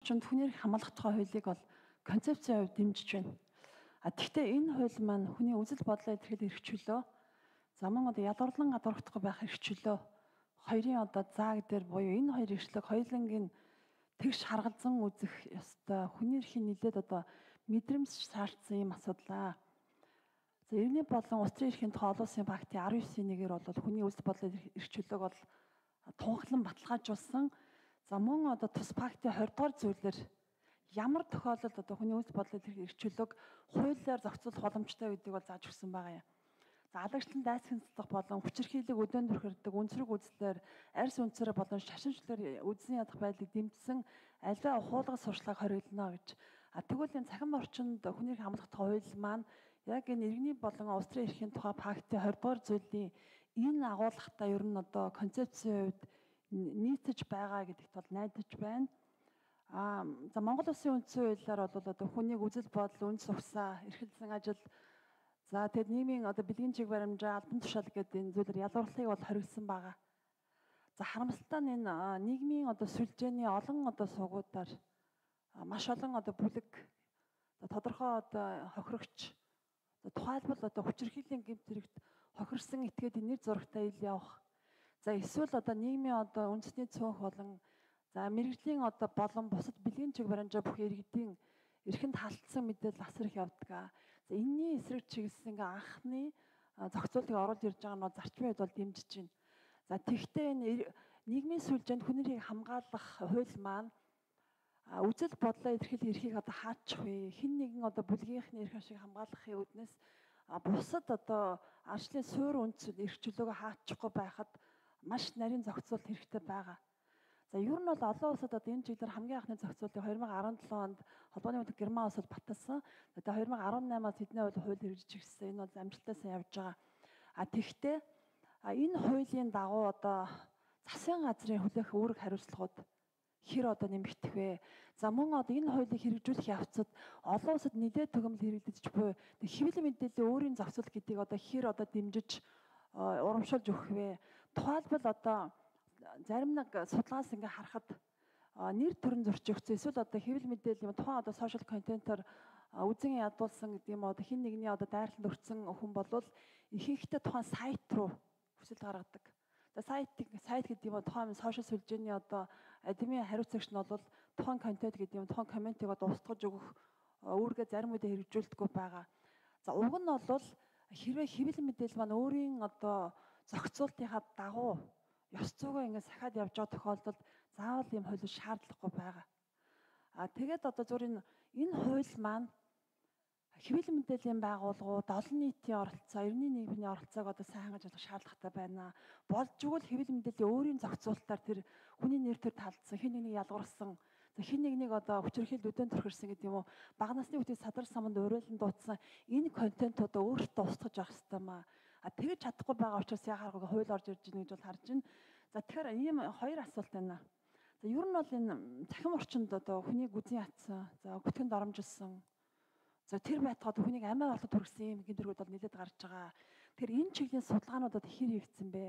орчинд хүнийг хамгаалах тухай хуулийг бол концепцийн хувьд дэмжиж байна. Гэхдээ энэ хууль маань хүний үзэл бодлоо илэрхийлэх эрх чөлөө, за мөн одоо ялгарлан гадуурхдахгүй байх эрх чөлөө, хоёрын одоо зааг дээр буюу энэ хоёр эрхчлэг хоёулангийн тэгш харгалзан үзэх ёстой. Хүний эрхийн нэлээд одоо мэдрэмж шаардсан юм асуудлаа. За иргэний болон улс төрийн эрхийн тухай олон улсын пактын 19-ийн 1-ээр бол хүний үзэл бодлын эрх чөлөөг бол тунхаглан баталгаажуулсан. За мөн одоо тус пактын 20 дугаар зүйлээр ямар тохиолдолд одоо хүний үзэл бодлын эрх чөлөөг хуулиар зохицуулах боломжтой гэдгийг бол зааж өгсөн байгаа юм. За алагчлан дайсагнах болон хүчирхийлэг өдөөн төрхөрдөг үнсрэг үзлээр арьс үнцээр болон шашинчлаар үдсэн ядах байдлыг дэмжсэн аливаа хуулгас сурчлагыг хориглоно гэж. Тэгвэл энэ цахим орчинд хүний эрх хамгаалах хууль маань яг энэ иргэний болон улс төрийн эрхийн тухай пактын 20 дугаар зүйлийн энэ агуулгатай ер нь одоо концепцийн хувьд нийцэж байгаа гэдэгт бол найдаж байна. За Монгол Улсын үндсэн хуулиар бол одоо хүнийг үзэл бодол, үндэс ухсаа, эрхэлсэн ажил, за тэгэд нийгмийн одоо бэлгийн чиг баримжаа, албан тушаал гэдэг энэ зүйлээр ялгуурлахыг бол хориглосон байгаа. За харамсалтай нь энэ нийгмийн одоо сүлжээний олон одоо суугуудаар маш олон одоо бүлэг тодорхой одоо хохирогч, тухайлбал одоо хүчирхийллийн гэмт хэрэгт хохирсон этгээд нэр зурагтай ил явах. За эсвэл одоо нийгмийн одоо үндэсний цөөнх болон за мэрэгжлийн одоо болон бусад бэлгийн чиг баримжаа бүх иргэдийн эрхэнд халтсан мэдээлэл асар их явдаг. За энэний эсрэг чиглэсэн ингээ анхны зохицуултыг оруулж ирж байгаа нь зарчмын хувьд бол дэмжиж байна. За тэгвэл энэ нийгмийн сүлжээнд хүний эрхийг хамгаалах хууль маань үзэл бодлоо илэрхийлэх эрхийг одоо хаачих вэ? Хэн нэгэн одоо бүлгийнхний эрх ашиг хамгаалахын үүднээс бусад одоо арчлын суурь үндэс эрх чөлөөгөө хаачихгүй байхад маш нарийн зохицуулт хэрэгтэй байгаа. За ер нь бол олон улсад одоо энэ чиглэлээр хамгийн анхны зохицуултыг 2017 онд холбооны өмтөг Герман улс бол баталсан. Тэгээ 2018-аас хэдний хууль хэрэгжиж ирсэн. Энэ бол амжилттай сайн явж байгаа. Тэгвэл энэ хуулийн дагуу одоо засгийн газрын хүлээх үүрэг хариуцлагууд хэр одоо нэмэгдэх вэ? За мөн одоо энэ хуулийг хэрэгжүүлэх явцад олон улсад нэлээд төгөмөл хэрэглэгдэж буй хэвлэл мэдээллийн өөрийн зохицуулт гэдгийг одоо хэр одоо дэмжиж урамшуулж өгөх вэ? Тухайлбал одоо зарим нэг судалгаас ингээ харахад нэр төрön зөрчигдсөн эсвэл одоо хэвлэл мэдээлэл юм тухайн одоо сошиал контентоор үзэн ядуулсан гэдэг юм одоо хин нэгний одоо дайралтанд өртсөн хүн болвол ихэнхдээ тухайн сайт руу хүсэл гаргадаг. За сайт гэдэг юм тухайн сошиал сүлжээний одоо админ хариуцагч нь бол тухайн контент гэдэг юм тухайн комментиг одоо устгаж өгөх үүргээ зарим үедээ хэрэгжүүлдэггүй байгаа. За уг нь бол хэрвээ хэвлэл мэдээлэл маань өөрийн одоо зохицуултынхаа дагуу ёс зүйгөө ингэ сахиад явж байгаа тохиолдолд заавал ийм хууль шаардлагагүй байгаа. Тэгээд одоо зөвхөн энэ хууль маань хэвлэл мэдээллийн байгууллагууд, олон нийтийн оролцоо, эрхний нийгмийн оролцоог одоо сайн хангаж болох шаардлагатай байна. Болж игэл хэвлэл мэдээллийн өөрийн зохицуулалтаар тэр хүний нэр төр талдсан, хэн нэгнийг ялгуурсан, хэн нэгнийг одоо хүчирхийлэл өдөөн төрхөрсөн гэдэг юм уу, бага насны хүүхдийн садар саманд уриалан дуудсан энэ контентуудаа өөртөө устгаж явах хэрэгтэй маа. Тэгэж чадахгүй байгаа учраас яхааргүй хууль орж ирж байна гэж бол харж байна. За тэгэхээр ийм хоёр асуулт байна. За ер нь бол энэ цахим орчинд одоо хүнийг үзэн ятсан, за бүтгэнд оромжилсан. За тэр байтугай хүнийг амиа болоод хүргэсэн юм гинтэргүүд бол нэлээд гарч байгаа. Тэгэхээр энэ чиглийн судалгаануудад хэр хийгдсэн бэ?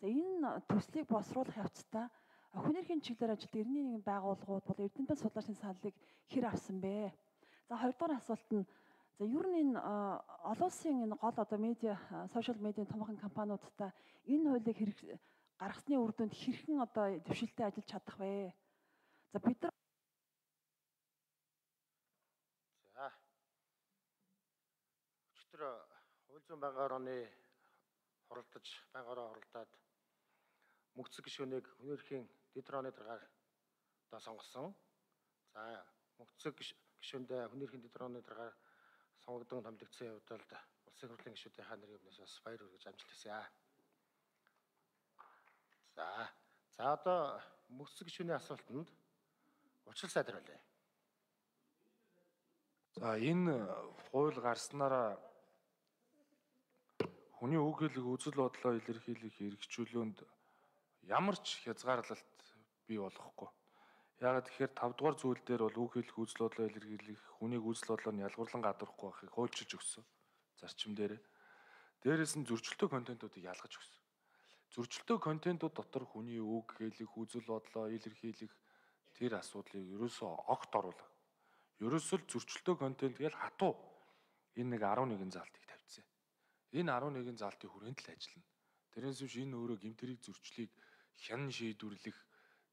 За энэ төслийг босруулах явцдаа хүний эрхийн чиглэлээр ажилладаг эрхний нэгэн байгууллагууд бол эрдэмтэн судлаачийн саналыг хэр авсан бэ? За хоёрдугаар асуулт нь за ер нь энэ олон улсын энэ гол одоо медиа, сошиал медиа томоохон компаниудтай энэ хуулийг гаргасны үр дүнд хэрхэн одоо дэвшилтэд ажиллаж чадах вэ? За бид нар өчтөр хууль зүйн байнгын орны хуралдаж байнгаараа хуралдаад мөнгөцөг гишүүнийг хүний эрхийн дэд орны даргаар одоо сонгосон. За мөнгөцөг гишүүндээ хүний эрхийн дэд орны даргаар сонгогдсон томилогдсон явдалд улсын хурлын гишүүдийнхаа нэрийн өмнөөс бас баяр хүргэж амжилт хүсье. За одоо мөнгөцөг гишүүний асуултанд учлал сайдруулъя. За энэ хууль гарснараа хүний үг хэлэх үзэл бодлоо илэрхийлэх эрхчлөөнд ямар ч хязгаарлалт бий болохгүй. Яагаад тэгэхээр 5 дугаар зүйл дээр бол үг хэлэх үзэл бодлоо илэрхийлэх хүнийг үзэл бодлоор нь ялгуурлан гадуурхгүй байхыг хуульчилж өгсөн зарчим дээр. Дээрээс нь зөрчилтэй контентуудыг ялгаж өгсөн. Зөрчилтэй контентууд дотор хүний үг хэлэх үзэл бодлоо илэрхийлэх тэр асуудлыг ерөөсөө огт оруулах. Ерөөсөө л зөрчилтэй контент гэж хатуу энэ нэг 11 залтыг тавьчихсан. Энэ 11 залтын хүрээнд л ажиллана. Тэрнээс биш энэ өөрөө гэмтрийг зөрчлийг хян шийдвэрлэх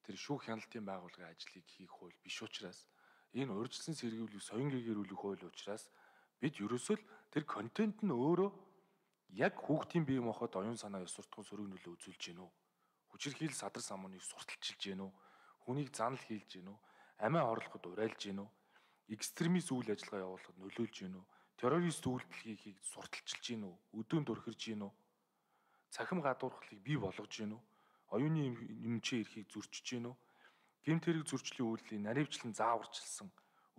тэр шүүх хяналтын байгууллагын ажлыг хийх хууль биш учраас энэ урьдчилан сэргийлэх соён гэгэрүүлэх хууль учраас бид ерөөсөө л тэр контент нь өөрөө яг хүүхдийн бие махбод оюун санаа ёс суртахуун сөрөг нөлөө үзүүлж гэнэ үү? Хүчирхийлэл садар самууныг сурталчилж гэнэ үү? Хүнийг занал хийлж гэнэ үү? Амиа орлоход урайлж гэнэ үү? Экстремист үйл ажиллагаа явуулахад нөлөөлж гэнэ үү? Террорист үйлдэл хийхийг сурталчилж гэнэ үү? Өдөөнд өрхөрж гэнэ үү? Цахим гадуурхлыг бий болгож гэнэ үү? Оюуны эмчийн эрхийг зөрчиж гэнэ үү? Гэмт хэрэг зөрчлийн үйлдэлийг наривчлан зааварчилсан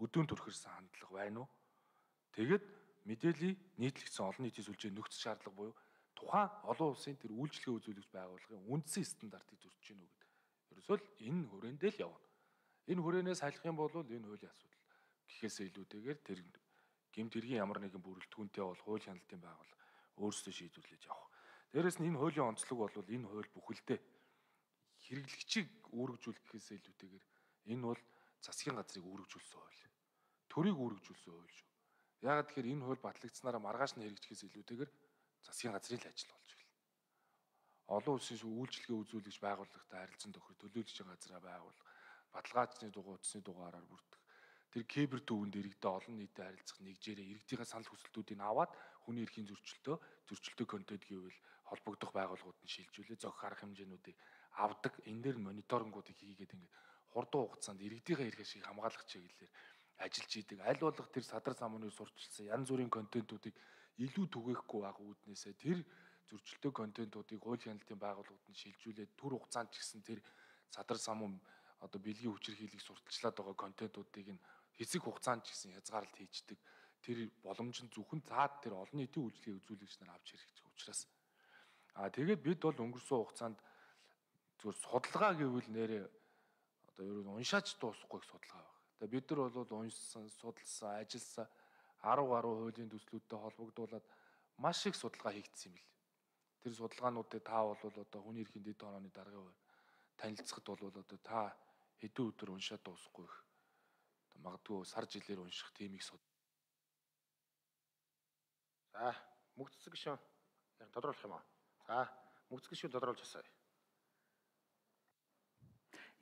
өдөөнд өрхөрсөн хандлага байна уу? Тэгэд мэдээллийг нийтлэгдсэн олон нийтийн сүлжээ нөхцөл шаардлага буюу тухайн олон улсын тэр үйлчлэгээ үзүүлэгч байгууллагын үндсэн стандартыг зөрчиж гэнэ үү гэдэг. Ерөөсөө л энэ хүрээндээ л явна. Энэ хүрээнээс салих юм бол энэ хуулийн асуудал гэхээсээ илүүтэйгээр тэр гэмт хэргийн ямар нэгэн бүрэлдэхүүнтэй бол хууль хяналтын байгууллага өөрсдөө шийдвэрлэж явах. Дээрээс нь энэ хуулийн онцлог бол энэ хууль бүхэлдээ хэрэглэгчийг үүргэжүүлэх гэхээсээ илүүтэйгээр энэ бол засгийн газрыг үүргэжүүлсэн хууль. Төрийг үүргэжүүлсэн хууль шүү. Яагаад тэгэхээр энэ хууль батлагдсанараа маргааш нь хэрэгжихээс илүүтэйгээр засгийн газрын л ажил болж байна. Олон улсын үйлчлэгээ үзүүлэгч байгууллагатай харилцан тохирох төлөөлөгч газраа байгуулах, баталгаажны дугуй утасны дугаараар бүрдэх. Тэр кибер төвөнд иргэдэд олон нийтэд харилцах нэгжээрээ иргэдийн санал хүсэлтүүдийг аваад хүний эрхийн зөрчилтэй контент гэвэл холбогдох байгууллагууд нь шилжүүлээ зохих арга хэмжээнүүдийг авдаг. Энэ дээр мониторингуудыг хийгээд ингээд хурдан хугацаанд иргэдийн эрх ашиг хамгаалах чиглэлээр ажиллаж идэг. Аль болох тэр садар самууныг сурчилсан янз бүрийн контентуудыг илүү түгээхгүй байх үүднээсээ тэр зөрчилтэй контентуудыг хууль хяналтын байгууллагууд нь шилжүүлээд түр хугацаанд ч гэсэн тэр садар самуун одоо бэлгийн хүчирхийллийг сурталчлаад байгаа контентуудыг нь хэсэг хугацаанд ч гэсэн хязгаарлалт хийждэг. Тэр боломж нь зөвхөн цаад тэр олон нийтийн үйлчлэгээ үзүүлэгч нар авч хэрэгжих учраас. Тэгээд бид бол өнгөрсөн хугацаанд зөвхөн судалгаа гэвэл нэрээ одоо ер нь уншаач дуусахгүй их судалгаа байна. Тэгээд бид нар бол уншсан, судалсан, ажилласан 10 гаруй хуулийн төслүүдтэй холбогдуулаад маш их судалгаа хийгдсэн юм бил. Тэр судалгаануудыг та бол одоо хүний эрхийн дэд тооны даргын хувьд танилцахад бол одоо та хэдэн өдөр уншаад дуусахгүй их. Магадгүй сар жилээр унших тийм их суд. За, мөгцөг гишүүн яг тодруулах юм аа. За, мөгцөг гишүүн тодруулж асууя.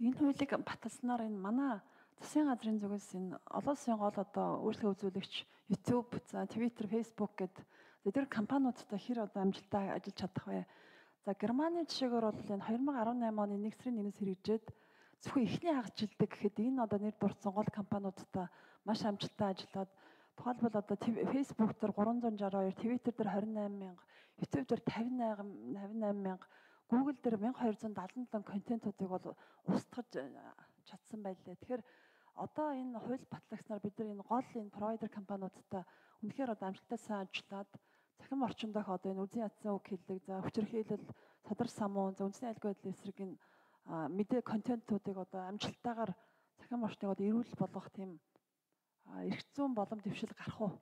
Энэ хуулийг баталснаар энэ манай засгийн газрын зүгээс энэ олон улсын гол одоо үйлчлэгээ үзүүлэгч YouTube, за Twitter, Facebook гэдэг тэр компаниудтай хэр одоо амжилттай ажиллаж чадах вэ? За Германы жишээгээр бол энэ 2018 оны 1 сарын 1-ээс хэрэгжээд зөвхөн эхний хагас жилдээ гэхэд энэ одоо нэр дурдсан гол компаниудтай маш амжилттай ажиллаад тухайлбал одоо Facebook дээр 362, Twitter дээр 28,000, YouTube дээр 58,000, Google дээр 1277 контентуудыг бол устгаж чадсан байлээ. Тэгэхээр одоо энэ хууль батлагдсанаар бид нар энэ гол энэ провайдер компаниудтай үнэхээр одоо амжилттай сайн ажиллаад цахим орчин дэх одоо энэ үзэн ядсан үг хэллэг, за хүчирхийлэл, садар самуун, за үндэсний айлгой байдлын эсрэг энэ мэдээ контентуудыг одоо амжилттайгаар цахим орчныг одоо эрүүл болгох тийм эрх зүйн боломж дэвшил гарах уу?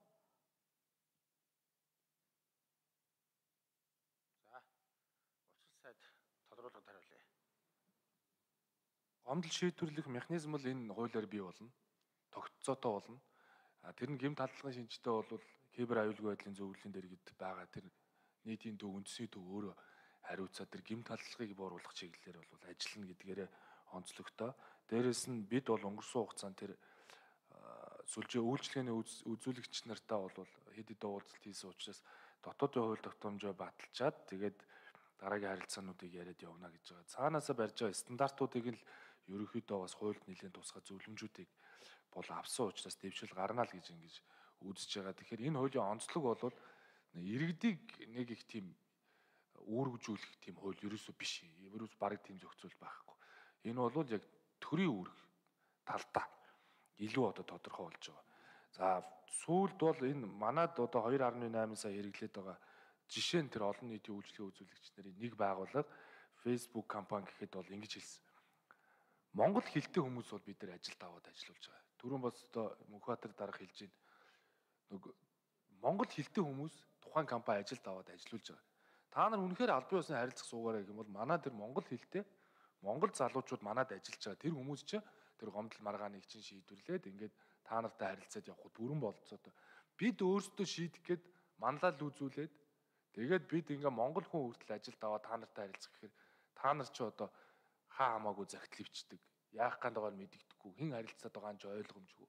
За, улсын сайд тодруулгад хариулъя. Гомдол шийдвэрлэх механизм бол энэ хуулиар бий болно. Тогтцоотой болно. Тэр нь гэмт халдлагын шинжтэй бол кибер аюулгүй байдлын зөвлөлийн дээр гээд байгаа тэр нийтийн төв үндэсний төв өөрөө хариуцаад тэр гэмт халдлагыг бууруулах чиглэлээр бол ажиллана гэдгээрээ онцлогтой. Дээрээс нь бид бол өнгөрсөн хугацаанд тэр сүлжээ үйлчлэгээний үзүүлэгч нартаа бол хэд хэдэн уулзалт хийсэн учраас дотоодын хууль тогтоомжоо баталчаад тэгээд дараагийн харилцаануудыг яриад явна гэж байгаа. Цаанаасаа барьж байгаа стандартуудыг л ерөнхийдөө бас хуульд нэлээд тусгай зөвлөмжүүдийг бол авсан учраас дэвшил гарна л гэж ингэж үзэж байгаа. Тэгэхээр энэ хуулийн онцлог бол иргэдийг нэг их тийм үүргэжүүлэх тийм хууль ерөөсөө биш. Ерөөс бараг тийм зохицуул байхгүй. Энэ бол яг төрийн үүрэг талдаа илүү одоо тодорхой болж байгаа. За сүүлд бол энэ манад одоо 2.8 сая хэрэглээд байгаа жишээ нь тэр олон нийтийн үйлчлэгээ үзүүлэгч нарын нэг байгууллага Facebook компани гэхэд бол ингэж хэлсэн. Монгол хэлтэй хүмүүс бол бид нар ажилд аваад ажиллуулж байгаа. Түрүүн бас одоо Мөнхбаатар дарга хэлж байна. Монгол хэлтэй хүмүүс тухайн компани ажилд аваад ажиллуулж байгаа. Та нар үнэхээр албан ёсны харилцах суугаараа гэх юм бол манай тэр монгол хэлтэй монгол залуучууд манад ажиллаж байгаа тэр хүмүүс чинь тэр гомдол маргааныг чинь шийдвэрлээд ингээд та нартай харилцаад явхад бүрэн болцоо. Бид өөрсдөө шийдэх гээд манлал үзүүлээд тэгээд бид ингээ Монгол хүн хүртэл ажилд аваад та нартай харилцах гэхээр та нар ч одоо хаа хамаагүй загтал ивчдэг. Яах гээд байгааг мэддэггүй. Хэн харилцаад байгаа нь ч ойлгомжгүй.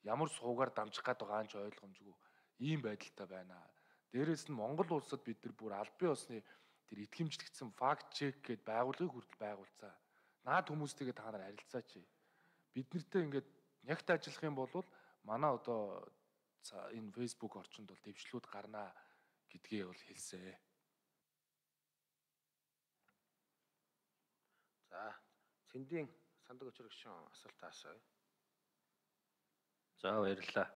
Ямар суугаар дамжих гээд байгаа нь ч ойлгомжгүй. Ийм байдалтай байна. Дээрээс нь Монгол улсад бид нар бүр аль бие усны тэр итгэмжлэгдсэн факт чек гээд байгууллагыг хүртэл байгуулцаа. Наад хүмүүстэйгээ та нар харилцаач. Бид нартэй ингээд нягт ажиллах юм бол манай одоо энэ Facebook орчинд бол дэвшлүүд гарнаа гэдгээ бол хэлсэн. За, Цэндийн сандаг өчрөгшин асуулт асууя. За баярлалаа.